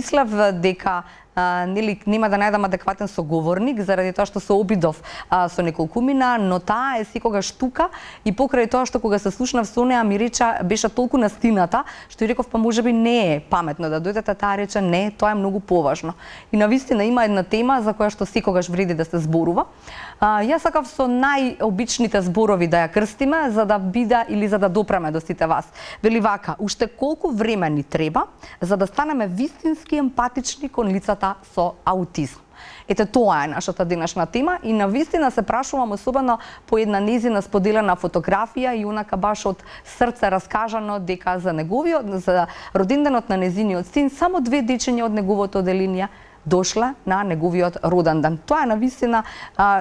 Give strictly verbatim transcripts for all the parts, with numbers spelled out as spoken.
мислев дека Uh, нели, нема да најдам адекватен соговорник заради тоа што се обидов uh, со неколкумина, но таа е секогаш тука и покрај тоа што кога се слушнав со неа ми рече беше толку настината што и реков па можеби не е паметно да дојдете, таа рече не, тоа е многу поважно. И навистина има една тема за која што секогаш вреди да се зборува. Uh, јас сакав со најобичните зборови да ја крстиме за да биде или за да допреме до сите вас. Вели вака, уште колку време ни треба за да станеме вистински емпатични кон лицата со аутизм. Ете, тоа е нашата денешна тема и навистина се прашувам особено по една незина споделена фотографија и онака баш од срце раскажано дека за неговиот, за роденденот на незиниот син, само две дечиња од неговото оделение дошле на неговиот роден ден. Тоа е навистина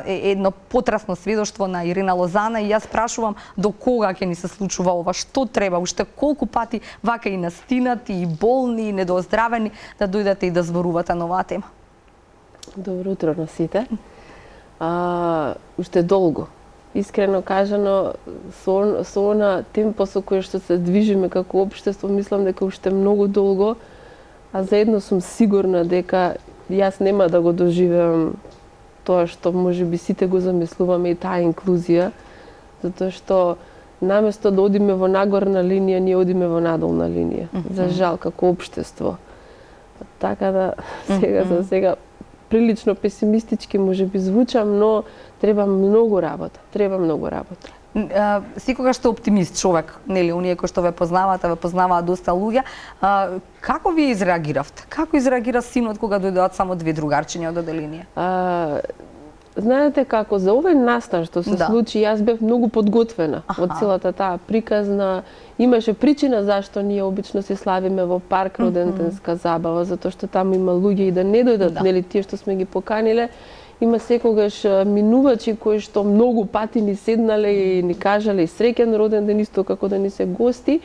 е едно потрасно сведоштво на Ирина Лозана и јас прашувам до кога ќе ни се случува ова, што треба, уште колку пати вака и настинати, и болни, и недооздравени да дојдете и да зборувате на оваа тема. Добро утро на сите. А, уште долго. Искрено кажано, со, со она темпо со кој што се движиме како општество, мислам дека уште многу долго, а заедно сум сигурна дека јас нема да го доживеам тоа што можеби сите го замислуваме и таа инклузија, затоа што наместо да одиме во нагорна линија, ние одиме во надолна линија. Mm -hmm. За жал, како општество. Така да, сега за сега прилично песимистички можеби звучам, но треба многу работа, треба многу работа. Uh, секогаш сте оптимист човек, нели, оние кои што ве познаваат, ве познаваат доста луѓе. Uh, како вие изреагиравте? Како изреагира синот кога дојдоат само две другарчиња од оделение? Uh, знаете како, за овој настан што се да. случи, јас бев многу подготвена од целата таа приказна. Имаше причина зашто ние обично се славиме во парк роденденска mm -hmm. забава, затоа што таму има луѓе и да не дојдат, да. нели, тие што сме ги поканиле. Има секогаш минувачи кои што многу пати ни седнале и ни кажале среќен роден ден исто како да ни се гости.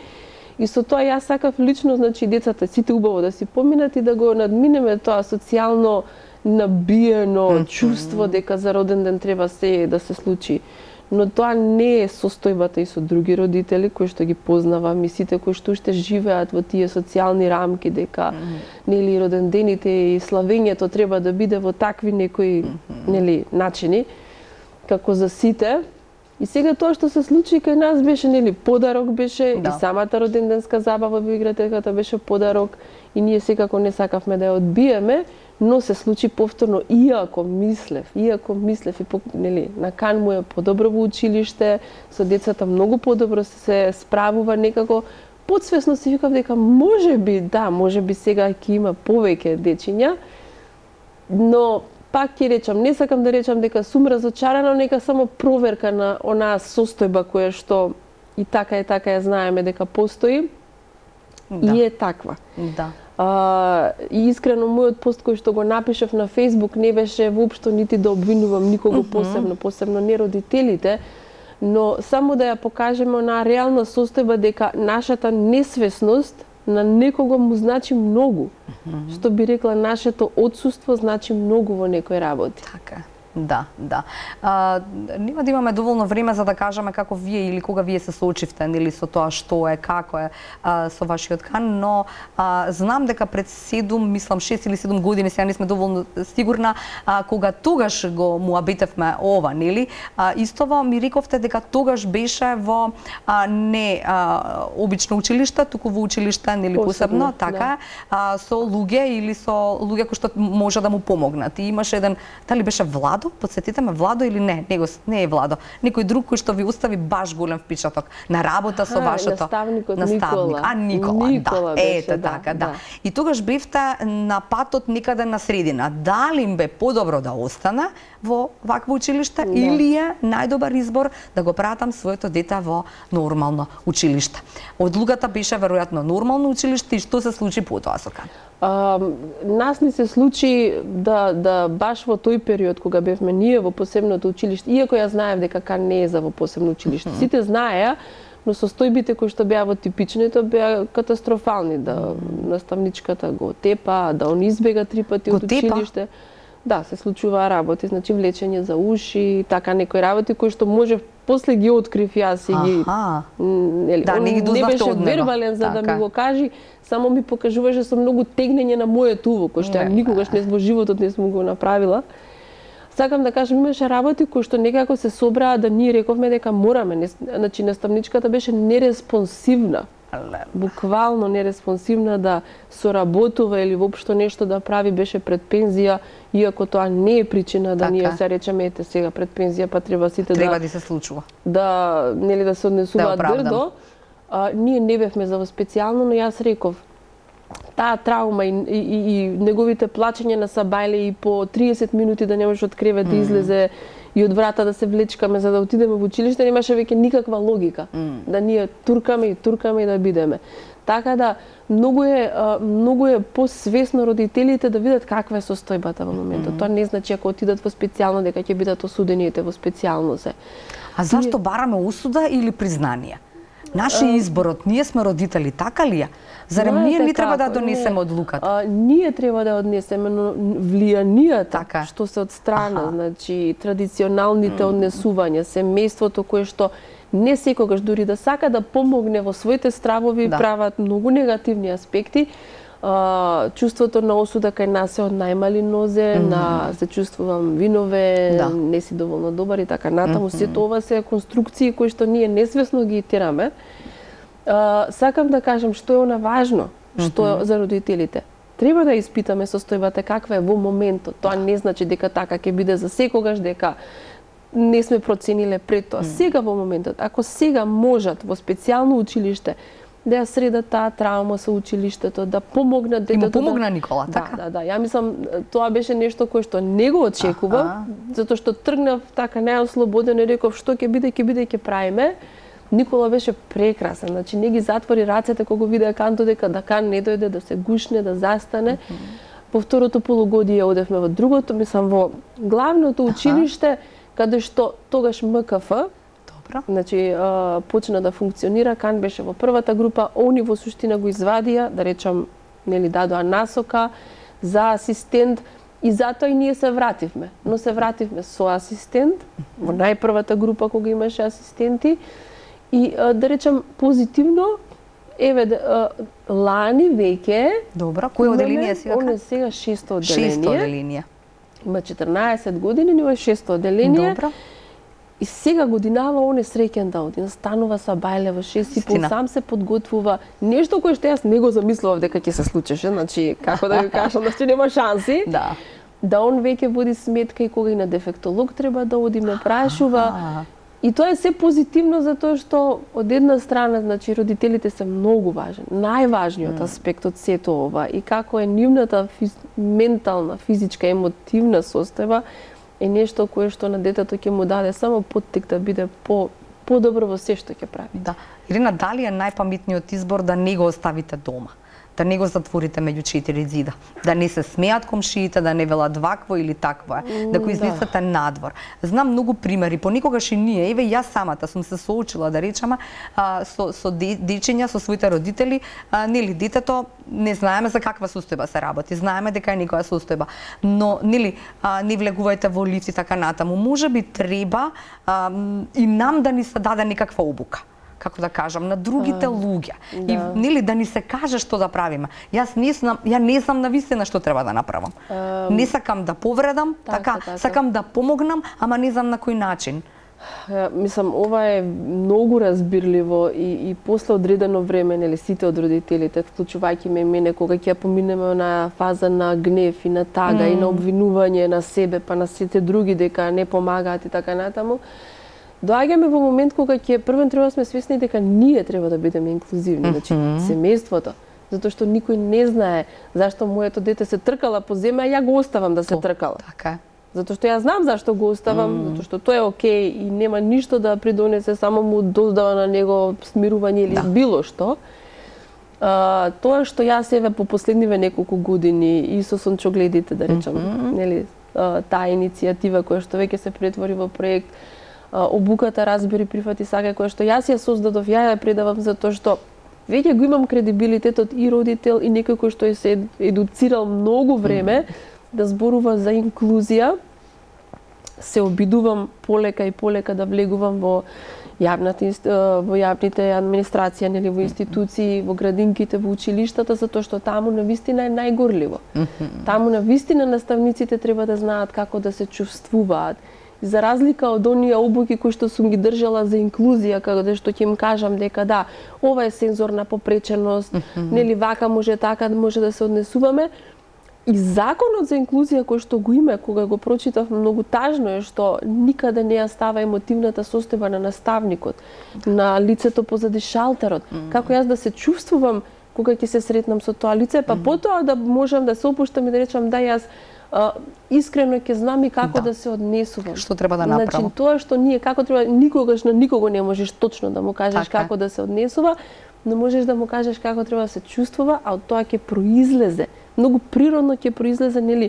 И со тоа јас сакав лично, значи децата сите убаво да си поминат и да го надминеме тоа социјално набиено mm -hmm. чувство дека за роден ден треба се да се случи. Но тоа не е состојбата и со други родители кои што ги познавам и сите кои што уште живеат во тие социјални рамки дека mm -hmm. нели родендените и славењето треба да биде во такви некои mm -hmm. нели начини како за сите. И сега тоа што се случи кај нас беше нели подарок беше да. и самата роденденска забава во игрателката беше подарок и ние секако не сакавме да ја одбиеме, но се случи повторно, иако мислев, иако мислев и нели на кан му е подобро во училиште, со децата многу подобро се справува, некако подсвесно си викав дека можеби, да, можеби сега ќе има повеќе дечиња, но пак ќе речам, не сакам да речам дека сум разочарана, нека само проверка на онаа состојба која што и така и така ја знаеме дека постои да. и е таква. Да. Uh, и искрено мојот пост кој што го напишав на Facebook не беше воопшто нити да обвинувам никого mm -hmm. посебно, посебно не родителите, но само да ја покажеме на реална состојба дека нашата несвесност на некого му значи многу. Mm -hmm. Што би рекла, нашето отсуство значи многу во некој работи. Така. Да, да. А, нема да имаме доволно време за да кажеме како вие или кога вие се соочивте нели со тоа што е, како е а, со вашиот кан, но а, знам дека пред седум, мислам шест или седум години, сега не сме доволно сигурна, а, кога тогаш го муабитевме ова, нели? А, истово ми рековте дека тогаш беше во а, не а, обично училиште, туку во училиште, нели посебно, посебно така, да. а, со луѓе или со луѓе кои што може да му помогнат. И имаше еден, дали беше Владо, подсетите ме, Владо или не, него не е Владо, некој друг кој што ви остави баш голем впечаток на работа со вашето наставникот наставник. Никола. А Никола, Никола да, беше, ето да, така, да. да. И тогаш бевте на патот некаде на средина. Дали им бе подобро да остане во вакво училиште да. или е најдобар избор да го пратам своето дете во нормално училиште? Одлуката беше веројатно нормално училиште и што се случи потоа со Кан? Uh, нас не се случи да, да баш во тој период кога бевме ние во посебното училиште, иако ја знаев дека Кан не е за во посебно училиште. Mm -hmm. Сите знаеа, но состојбите кои што беа во типичните беа катастрофални, да mm -hmm. наставничката го тепа, да он избега три пати го од училиште. Да, се случува работи, значи влечење за уши, така некои работи кои што може после ги открив јас и ги нели, да, не ги дознавте од него. Не беше вербален за така да ми го кажи, само ми покажуваше со многу тегнење на мојот уво, кој што ја никогаш не во животот не сум го направила. Сакам да кажам, имаше работи кои што некако се собраа да ние рековме дека мораме, не, значи наставничката беше нереспонсивна. Буквално нереспонсивна да соработува или воопшто нешто да прави, беше пред пензија, иако тоа не е причина да така ние се речеме ете сега пред пензија па треба сите треба да да се случува. Да, нели да се однесуваат да дрдо. А, ние не бевме за специјално, но јас реков таа травма и, и, и, и неговите плачења на сабајле и по триесет минути да не може од кревет да излезе и од врата да се влечкаме за да отидеме во училиште, немаше веќе никаква логика. Mm. Да ние туркаме и туркаме и да бидеме. Така да многу е многу е посвесно родителите да видат каква е состојбата во моментот. Mm. Тоа не значи ако отидат во специјално дека ќе бидат осудените во специјално се. А зашто бараме осуда или признание? Наши изборот, ние сме родители, така ли е? Зарем ние не треба да донесеме одлуката? А, ние треба да однесеме, но влијанијата така што се од страна, аха, значи традиционалните однесувања, семејството кое што не секогаш дури да сака да помогне во своите стравови, да, прават многу негативни аспекти. Uh, чувството на осуда кај нас е од најмали нозе, mm -hmm. на се чувствувам винове, да, не си доволно добар и така натаму. Mm -hmm. Сето ова се конструкции кои што ние несвесно ги тераме. Uh, сакам да кажам што е она важно, што mm -hmm. за родителите. Треба да испитаме состојбата каква е во моментот. Тоа не значи дека така ќе биде за секогаш, дека не сме процениле пред тоа. Mm -hmm. Сега во моментот, ако сега можат во специјално училиште да ја средат таа травма со училиштето, да помогнат детето. И му помогна да... Никола, да, така? Да, да, ја мислам тоа беше нешто кое што не го очекував, затоа што тргнав така најослободен и реков што ќе биде, ќе биде, ќе правиме. Никола беше прекрасен, значи не ги затвори рацете кога го видеа Канто дека да Кан не дојде да се гушне, да застане. Mm -hmm. По второто полугодие одевме во другото, мислам во главното училиште, каде што тогаш М К Ф значи почна да функционира, Кан беше во првата група, они во суштина го извадија, да речам, нели дадоа насока за асистент и затоа и ние се вративме. Но се вративме со асистент во најпрвата група кога имаше асистенти и да речам позитивно, еве лани веќе. Добро, кој оделение си? Он е сега шесто оделение. Шесто оделение. Има четрнаесет години, но е шесто оделение. Добро. И сега годинава он е среќен да оди, станува сабајле во шест и пол, сам се подготвува. Нешто кое што јас не го замислував дека ќе се случеше, значи како да ви кажам, значи нема шанси. Да. Да он веќе води сметка и кога и на дефектолог треба да оди, ме прашува. И тоа е се позитивно затоа што од една страна, значи родителите се многу важен. Најважниот mm. аспект од сето ова и како е нивната физ... ментална, физичка, емотивна состојба е нешто кое што на детето ќе му даде само поттик да биде по подобро во се што ќе прави. Да. Ирина, дали е најпаметниот избор да не го оставите дома? Да не го затворите меѓу четири зида, да не се смеат комшиите, да не велат вакво или такво е, да го излезете да. надвор. Знам многу примери, понекогаш и ние, еве јас самата сум се соочила, да речеме, а, со, со дечиња, со своите родители, а, нели, детето не знаеме за каква состојба се работи, знаеме дека е некоја состојба, но нели, а, не влегувајте во лифт и така натаму. Можеби треба а, и нам да ни се даде некаква обука, како да кажам, на другите uh, луѓе. Да. И нели да ни се каже што да правиме. Јас не знам, ја не знам навистина што треба да направам. Uh, не сакам да повредам, така, така, така, сакам да помогнам, ама не знам на кој начин. Ја, мислам, ова е многу разбирливо и, и после одредено време, нели, сите од родителите, вклучувајќи ме и мене, кога ќе поминеме на фаза на гнев и на тага mm. и на обвинување на себе, па на сите други дека не помагаат и така натаму, доаѓаме во момент кога ќе првен треба да сме свесни дека ние треба да бидеме инклузивни, mm -hmm. значи семејството, затоа што никој не знае зашто моето дете се тркала по земја, а ја го оставам да се О, тркала. Така. Затоа што ја знам зашто го оставам, mm. затоа што тоа е окей и нема ништо да придонесе, само му доздава на него смирување или да. било што. А, тоа што јас еве по последниве неколку години и со сончогледите, да речам, mm -hmm. нели, а, таа иницијатива која што веќе се претвори во проект, обуката Разбери, прифати, сакај, која што јас ја создадов, ја ја предавам затоа што веќе го имам кредибилитетот и родител и некој кој што е се едуцирал многу време, да зборува за инклузија, се обидувам полека и полека да влегувам во јавната во јавните администрација, нели, во институции, во градинките, во училиштата, затоа што таму навистина е најгорливо. Mm-hmm. Таму навистина наставниците треба да знаат како да се чувствуваат. И за разлика од оние обуки кои што сум ги држала за инклузија, каде што ќе им кажам дека да, ова е сензорна попреченост, mm-hmm. нели вака може, така може да се однесуваме. И законот за инклузија кој што го има, кога го прочитав, многу тажно е што никаде не ја става емотивната состојба на наставникот, на лицето позади шалтерот. Mm-hmm. Како јас да се чувствувам кога ќе се сретнам со тоа лице, па mm-hmm. потоа да можам да се опуштам и да речам да јас а, искрено ќе знам и како да. да се однесувам. Што треба да направам? Значи тоа што ние како треба, никогаш на никого не можеш точно да му кажеш така како да се однесува, но можеш да му кажеш како треба да се чувствува, а од тоа ќе произлезе. Многу природно ќе произлезе, нели,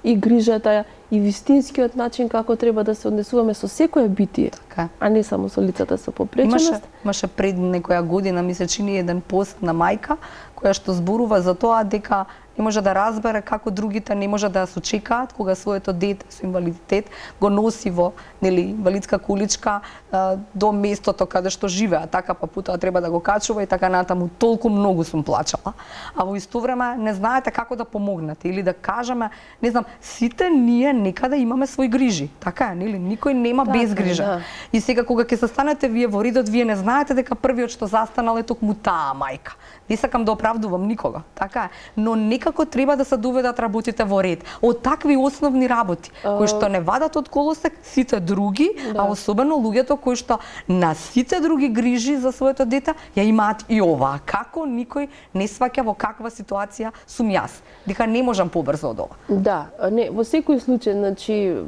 и грижата, и вистинскиот начин како треба да се однесуваме со секое битие, така, а не само со лицата со попреченост. Имаше, имаше пред некоја година, ми се чини, еден пост на мајка која што зборува за тоа дека не може да разбере како другите не може да се чекаат кога своето дете со инвалидитет го носи во, нели, инвалидска количка а, до местото каде што живеа, така па потоа треба да го качува и така натаму. Толку многу сум плачала, а во исто време не знаете како да помогнете или да кажеме, не знам, сите ние некаде имаме свои грижи, така е, нели? Никој нема така, без грижа. Да. И сега кога ќе се станете вие во редот, вие не знаете дека првиот што застанал е токму таа мајка. Не сакам да оправдувам никога, така е, но некако треба да се доведат работите во ред. Од такви основни работи, uh... кои што не вадат од колосек сите други, да, а особено луѓето кои што на сите други грижи за своето дете ја имаат и ова. Како никој не сваќа во каква ситуација сум јас, дека не можам побрзо од ова. Да, не, во секој случај, значи,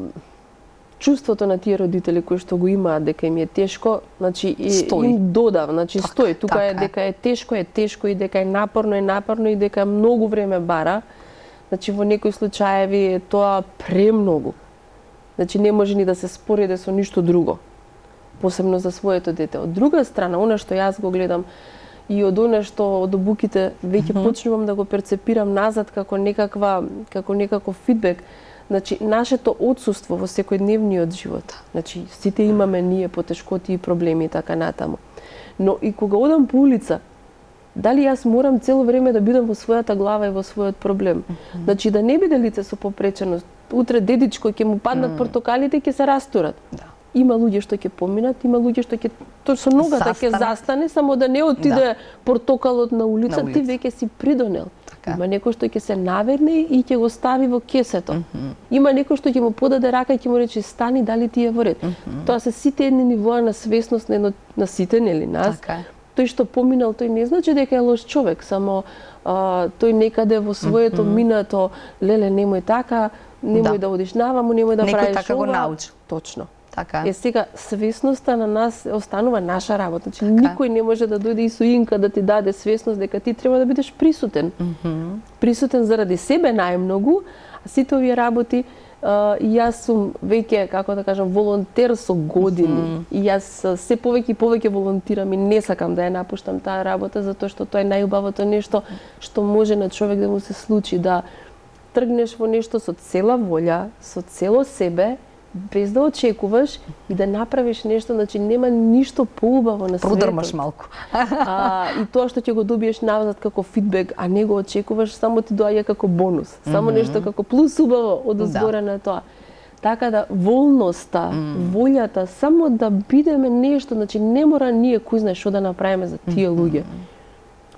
чувството на тие родители кои што го имаат дека им е тешко, значи и им додав, значи так, стои, тука така е дека е тешко, е тешко и дека е напорно, е напорно и дека многу време бара. Значи во некои случаеви е тоа премногу. Значи не може ни да се спореде со ништо друго, посебно за своето дете. Од друга страна, она што јас го гледам и од она што од обуките веќе mm-hmm. почнувам да го перцепирам назад како некаква како некаков фидбек. Значи, нашето отсуство во секојдневниот живот. Значи, сите имаме ние потешкоти и проблеми и така натаму. Но и кога одам по улица, дали јас морам цело време да бидам во својата глава и во својот проблем? Mm-hmm. Значи, да не биде лице со попреченост, утре дедичко ќе му паднат mm. портокалите и ќе се растурат. Да. Има луѓе што ќе поминат, има луѓе што ќе тоа со ногата ќе застане, само да не отиде да. портокалот на улица, на улица, ти веќе си придонел. Така. Има некој што ќе се наверне и ќе го стави во кесето. Mm-hmm. Има некој што ќе му подаде рака и ќе му рече стани, дали ти е во ред. Mm-hmm. Тоа се сите едни нивоа на свесност на, на сите, нели, нас. Така. Тој што поминал, тој не значи дека е лош човек, само а, тој некаде во своето mm-hmm. минато, леле, немој така, немој да, да одиш наваму, немој да некој правиш така ова. Го научи. Точно. Така. Е, сега, свесноста на нас останува наша работа. Значи, така. Никој не може да дојде и со инка да ти даде свесност дека ти треба да бидеш присутен. Mm-hmm. Присутен заради себе најмногу, а сите овие работи, uh, јас сум веќе, како да кажам, волонтер со години. Mm-hmm. И јас се повеќе и повеќе волонтирам и не сакам да ја напуштам таа работа, затоа што тоа е најубавото нешто што може на човек да му се случи, да тргнеш во нешто со цела волја, со цело себе, без да очекуваш и да направиш нешто, значи нема ништо поубаво на светот. Продрмаш малку. а, и тоа што ќе го добиеш назад како фидбек, а не го очекуваш, само ти доаѓа како бонус. Само mm-hmm. нешто како плюс убаво од збора да. на тоа. Така да волноста, mm. волјата, само да бидеме нешто, значи не мора ние кој знае што да направиме за тие луѓе.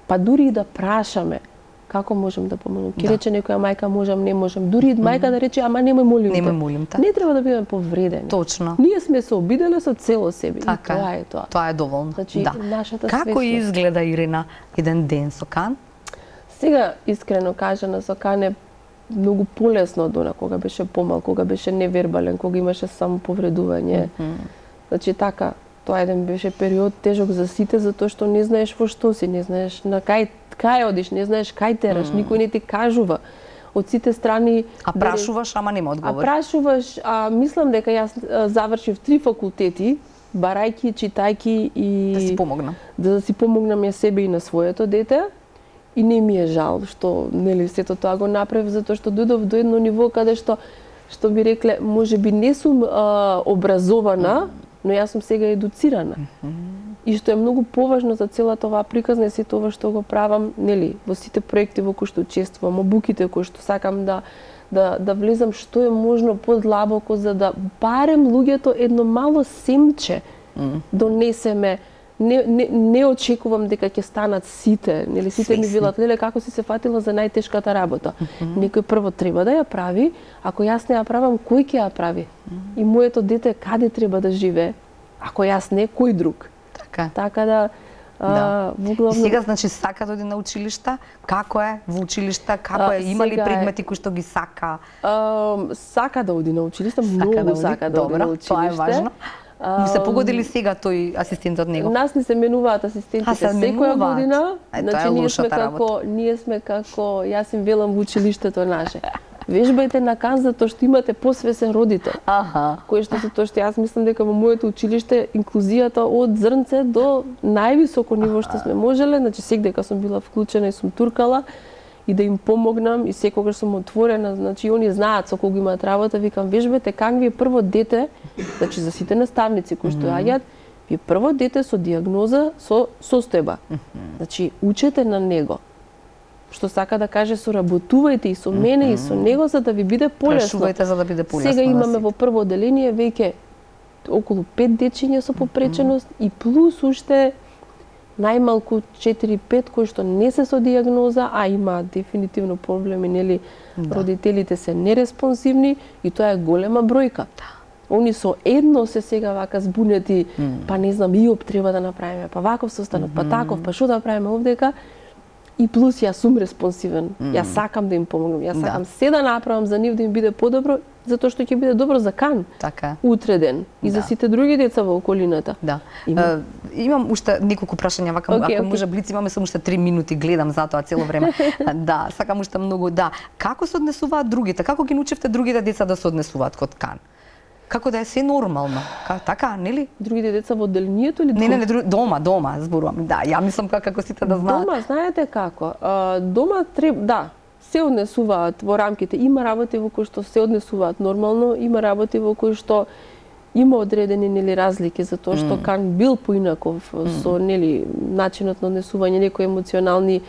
Па дури и да прашаме како можам да помогнам. Ке да. рече некоја мајка можам, не можам. Дури mm. мајка да рече ама немој молим те. Немој молим те. Не треба да бидеме повредени. Точно. Ние сме се обиделе со цело себе. Така, и тоа е тоа. Тоа е доволно. Значи, да. нашата Како свесност. изгледа, Ирина, еден ден со Кан? Сега, искрено кажано, со Кан е многу полесно од она кога беше помал, кога беше невербален, кога имаше само повредување. Mm-hmm. Значи така, тоа еден беше период тежок за сите, затоа што не знаеш во што си, не знаеш на кај кај одиш, не знаеш кај тераш, mm. никој не ти кажува. Од сите страни... А прашуваш, ама нема одговор. А прашуваш, а мислам дека јас завршив три факултети, барајки, читајки и... Да си помогнам. Да си помогнам ја себе и на своето дете. И не ми е жал што нели сето тоа го направив, затоа што дојдов до едно ниво каде што што би рекле, може би не сум а, образована, но јас сум сега едуцирана. И што е многу поважно за целата оваа приказна е сето ова што го правам, нели, во сите проекти во кои што учествувам, обуките кои што сакам да да да влезам што е можно подлабоко за да барем луѓето едно мало семче mm. донесеме. Не, не, не очекувам дека ќе станат сите, нели сите Свесни. Ми велат, леле како си се фатила за најтешката работа. Mm -hmm. Некој прво треба да ја прави, ако јас не ја правам, кој ќе ја прави? Mm -hmm. И моето дете каде треба да живее? Ако јас не, кој друг? Така. Така да Да. А, и сега, значи, сака да оди на училишта? Како е во училишта? Како е? Има ли предмети кои што ги сака? А, сака да оди на училишта, многу сака да оди, сака да оди на училиште. Тоа е важно. Му се погоди ли сега тој асистентот него? Нас не се менуваат асистентите секоја година. Е, значи, ние сме како, ние сме како, јас им велам во училиштето наше. Вежбајте на кан затоа што имате посвесен родител. Аха. Кој што се тоа што јас мислам дека во моето училиште инклузијата од зрнце до највисоко ниво што сме можеле, значи секдека сум била вклучена и сум туркала и да им помогнам и секогаш сум отворена, значи они знаат со кого имаат работа, викам вежбајте кан ви е прво дете, значи за сите наставници кои што јаѓаат, ви е прво дете со диагноза со состојба. Значи учете на него. Што сака да каже, соработувајте и со мене mm -hmm. и со него за да ви биде полесно. Прашувајте за да биде полесно. Сега имаме во прво оделение веќе околу пет дечиња со попреченост mm -hmm. и плюс уште најмалку четири-пет кои што не се со диагноза, а има дефинитивно проблеми, нели, да. Родителите се нереспонсивни и тоа е голема бројка. Да. Они со едно се сега вака збунети, mm. па не знам, и об треба да направиме, па ваков состанок, mm -hmm. па таков, па што да правиме овдека. И плюс јас сум респонсивен. Mm. Јас сакам да им помогнам. Јас сакам да. се да направам за нив да им биде подобро, затоа што ќе биде добро за кан. Така. Утре ден и да. за сите други деца во околината. Да. Има... Uh, имам уште неколку прашања, вака okay, ако okay. може блиц, имаме само уште три минути, гледам затоа цело време. Да, сакам уште многу, да. Како се однесуваат другите? Како ги научевте другите деца да се однесуваат код кан? Како да е се нормално? Ка, така, нели? Другите деца во одделението или не, не, не, дру... дома, дома, зборувам. Да, ја мислам како, како сите да знаат. Дома, знаете како? А, дома треба, да, се однесуваат во рамките. Има работи во кои што се однесуваат нормално, има работи во кои што има одредени нели разлики затоа што mm. кан бил поинаков mm. со нели начинот на однесување, некои емоционални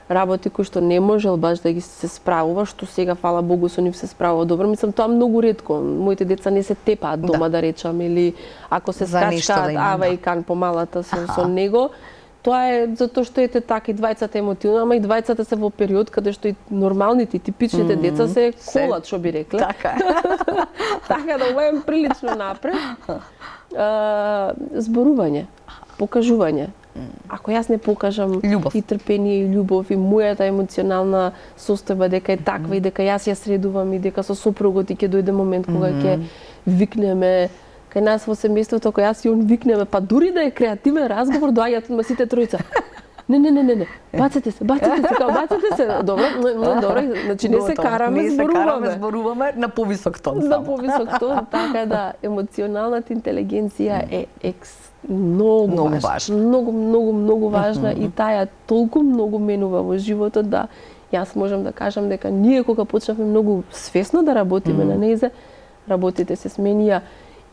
работи кои што не можел баш да ги се справува, што сега фала Богу со нив се справува добро. Мислам тоа многу ретко. Моите деца не се тепаат дома да, да речам или ако се скачкаат да ава да. и кан помалата со, со него. Тоа е затоа што ете така и двајцата емотивно, ама и двајцата се во период каде што и нормалните и типичните mm -hmm. деца се колат, што би рекле. Така е. Така да ова е прилично напред. А, зборување, покажување. Ако јас не покажам љубов. и трпение и љубов и мојата емоционална состојба дека е таква mm -hmm. и дека јас ја средувам и дека со сопругот и ќе дојде момент кога ќе mm -hmm. викнеме кај нас во семејството, кога јас и он викнеме, па дури да е креативен разговор, доаѓаат одма сите тројца. Не, не, не, не, не. Бацете се, бацете се, као бацете се. Добро, но добро, значи не се караме, не зборуваме. Не се караме, зборуваме на повисок тон само. На повисок тон, така да емоционалната интелигенција е екс многу, многу важна, важна. Многу, многу, многу важна mm -hmm. и таја толку многу менува во животот да јас можам да кажам дека ние кога почнавме многу свесно да работиме mm -hmm. на нејзе, работите се сменија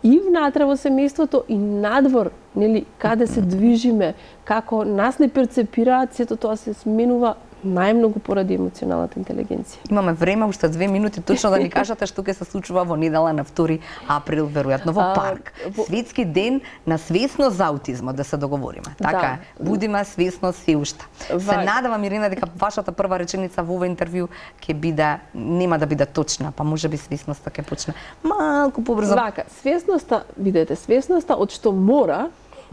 и внатре во семејството и надвор, нели, каде се движиме, како нас не перцепираат, сето тоа се сменува најмногу поради емоционалната интелигенција. Имаме време, уште две минути, точно да ни кажете што ќе се случува во недела на втори април, веројатно во парк. А, во... Светски ден на свесност за аутизмот, да се договориме. Така да. е, будиме свесно се уште. Ва... Се надевам, Ирина, дека вашата прва реченица во ова интервју ќе биде, нема да биде точна, па може би свесноста ќе почне малку побрзо. Вака, свесноста, видете, свесноста од што мора,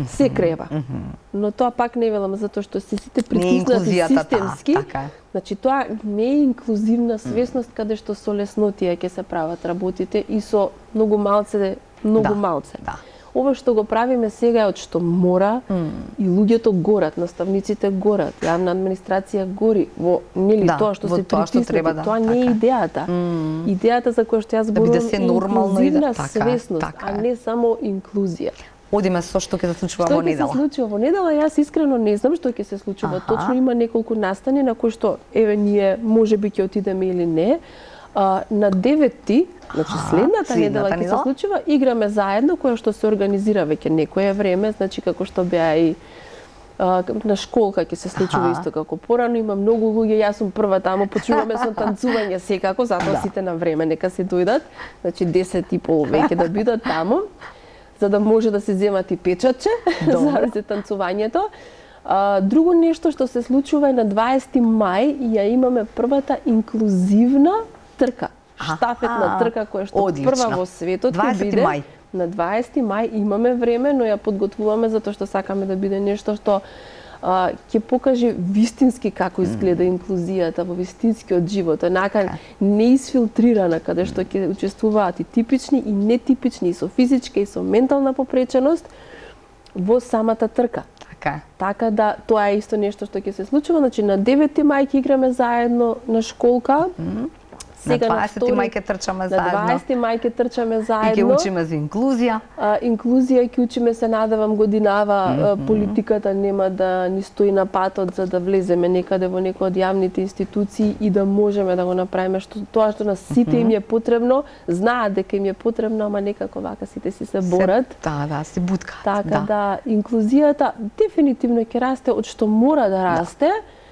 се крева. Mm -hmm. Но тоа пак не велам затоа што се сите притиснати системски. Та, така. Значи тоа не е инклузивна свесност mm -hmm. каде што со леснотија ќе се прават работите и со многу малце, многу да, малце. Да. Ова што го правиме сега е од што мора mm. и луѓето горат, наставниците горат, јавна администрација гори во нели да, тоа што се притиснати, да, тоа не е идејата. Mm. Идејата за која што јас зборувам да е инклузивна да, свесност, така, така а не само инклузија. одиме со што ќе се случува во недела. Што ќе се случува во недела, јас искрено не знам што ќе се случува. Аха. Точно има неколку настани на кои што еве ние можеби ќе отидеме или не. А, на деветти, значи следната, следната недела ќе се случува, играме заедно, која што се организира веќе некое време, значи како што беа и а, на школка ќе се случува Аха. Исто како порано, има многу луѓе, јас сум прва таму, почнуваме со танцување секако, затоа да. Сите на време нека се дојдат, значи десет и пол веќе да бидат таму, за да може да се земат и печатче за танцувањето. А, друго нешто што се случува е на дваесети мај, ја имаме првата инклузивна трка, штафетна трка која што Одлично. Прва во светот ќе биде мај. На дваесети мај имаме време, но ја подготвуваме затоа што сакаме да биде нешто што а, ќе покаже вистински како изгледа инклузијата во вистинскиот живот, онака неисфилтрирана, каде што ќе учествуваат и типични и нетипични, и со физичка и со ментална попреченост во самата трка. Така. Така да тоа е исто нешто што ќе се случува, значи на девети мај ќе играме заедно на школка. Mm-hmm. Сега на дваесети мај ќе трчаме заедно. На дваесети мај ќе трчаме заедно. И ќе учиме за инклузија. А, инклузија ќе учиме, се надевам годинава, mm -hmm. политиката нема да ни стои на патот за да влеземе некаде во некој од јавните институции и да можеме да го направиме што тоа што на сите mm -hmm. им е потребно, знаат дека им е потребно, ама некако вака сите си се борат. Да, да, се буткаат. Така да, да инклузијата дефинитивно ќе расте од што мора да расте. Да.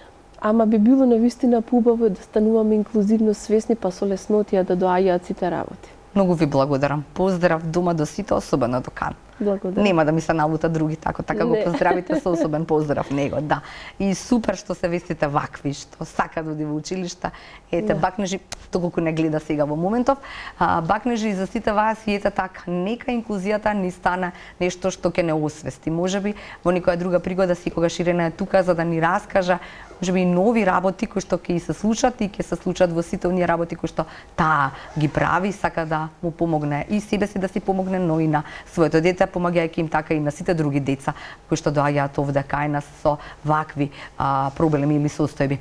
Ама би било навистина поубаво да стануваме инклузивно свесни, па со леснотија да доаѓаат сите работи. Многу ви благодарам. Поздрав дома до сите, особено до Кан. Благодарам. Нема да ми се налута други тако, така не. Го поздравите со особен поздрав него, да. И супер што се вестите вакви, што сака да оди во училишта. Ете, да. Бакнежи, доколку не гледа сега во моментов, а, бакнежи и за сите вас и ете така, нека инклузијата ни стане нешто што ќе не освести. Можеби во некоја друга пригода секогаш Ирена е тука за да ни раскажа можеби и нови работи кои што ќе се случат и ќе се случат во сите оние работи кои што таа ги прави, сака да му помогне и себе си да си помогне, но и на своето дете, помагајќи им така и на сите други деца кои што доаѓаат овде кај нас со вакви а, проблеми или состојби.